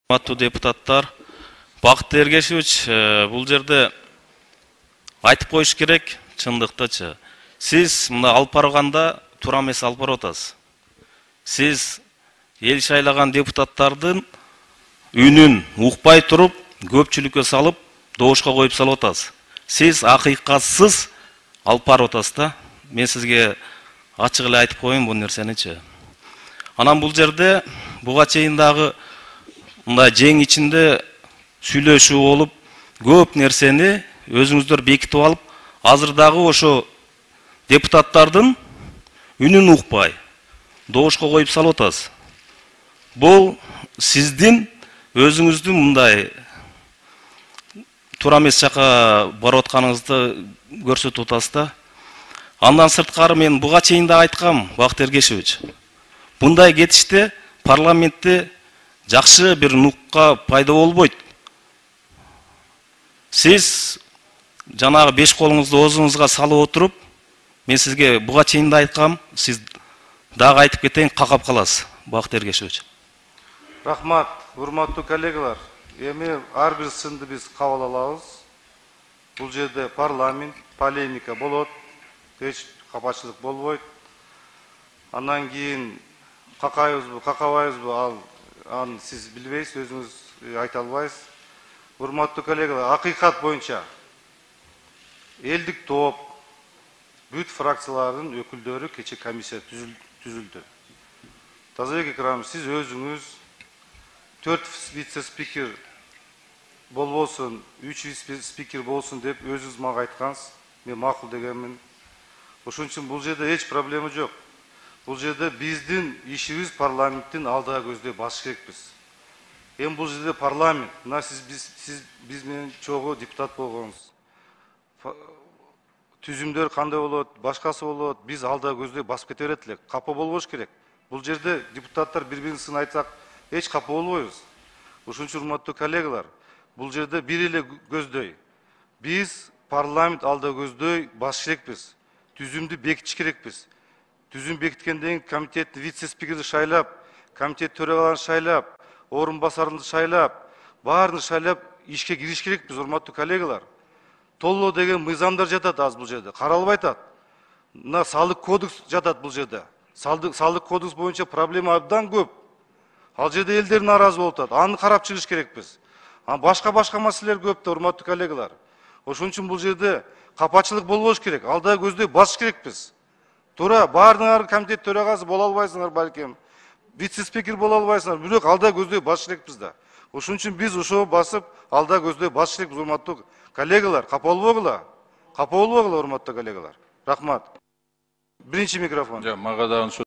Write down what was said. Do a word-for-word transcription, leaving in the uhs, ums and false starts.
Урматтуу депутаттар, Бакыт Эргешевич, бул жерде айтып коюш керек, чындыктычы. Сиз мына алып барганда туура эмес алып барып атасыз. Сиз эл шайлаган депутаттардын үнүн укпай туруп, көпчүлүккө салып, добушка коюп салып атасыз. Сиз акыйкатсыз алып барып атасыз да. Мен сизге ачык эле айтып коеюн бул нерсеничи. Анан бул жерде буга чейин дагы мындай жең ичинде сүйлөшүү болуп, көп нерсени өзүңүздөр бекитип алып, азыр дагы ошо депутаттардын үнүн укпай, добушка коюп салып атасыз. Бул сиздин өзүңүздүн мындай туура эмес жака барып атканыңызды көрсөтүп атасыз да. Андан сырткары мен буга чейин да айткам, Бакыт Эргешевич. Мындай кетиште парламентте жакшы бир нукка пайда болбойт. Сиз жанагы беш колуңузду оозуңузга салып отуруп, мен сизге буга чейин да айткам, сиз дагы айтып кетейин, какап каласыз, Бакыт Эргешевич. Рахмат, урматтуу коллегалар. Эми ар бир сынды биз кабыл алабыз. Бул жерде парламент, полемика болот, эч капачылык болбойт. Андан кийин какайбызбы, какабайбызбы, ал аны сиз билбейсиз, өзүңүз айта албайсыз. Урматтуу коллегалар, акыйкат боюнча элдик топ, бүт фракциялардын өкүлдөрү кече комиссия түзүлдү. Тазабек Экрамович, сиз өзүңүз төрт вице-спикер болбосун, үч вице-спикер болсун деп өзүңүз мага айткансыз. Мен макул дегенмин. Ошон үчүн бул жерде эч проблема жок. Бул жерде биздин ишибиз парламенттин алдыга көздөй басыш керекпиз. Эми бул жерде парламент, мына сиз биз сиз биз менен чогуу депутат болгонсуз. Түзүмдөр кандай болот, башкасы болот, биз алдыга көздөй басып кете берет элек. Капа болбош керек. Бул жерде депутаттар бири-бирисин айтсак, эч капа болбойбуз. Ошон үчүн урматтуу коллегалар, бул жерде бир эле көздөй. Биз парламент алдыга көздөй басыш керекпиз. Түзүмдү бекитиш керекпиз. Түзүм бекиткенден кийин комитеттин вице-спикерди шайлап, комитет төрагаларын шайлап, орун басарын шайлап, баарын шайлап ишке кириш керекпиз, урматтуу коллегалар. Толлоо деген мыйзамдар жатат азыр бул жерде, каралбай атат. Мына салык кодекс жатат бул жерде. Салык кодекс боюнча проблема абдан көп. Ал жерде элдер нааразы болуп атат. Аны карап чыгыш керекпиз. Анан башка-башка маселелер көп да, урматтуу коллегалар. Ошон үчүн бул жерде капачылык болбош керек. Алдыга көздөй басыш керекпиз. Туура, баарыңар комитет төрагасы боло албайсыңар балким. Вице-спикер боло албайсыңар, бирок алдыга көздөй басыш керекпиз да. Ошон үчүн биз ошо басып, алдыга көздөй басыш керекпиз, урматтуу коллегалар. Капа болбогула. Капа болбогула, урматтуу коллегалар. Рахмат. Биринчи микрофон. Жок, мага дагы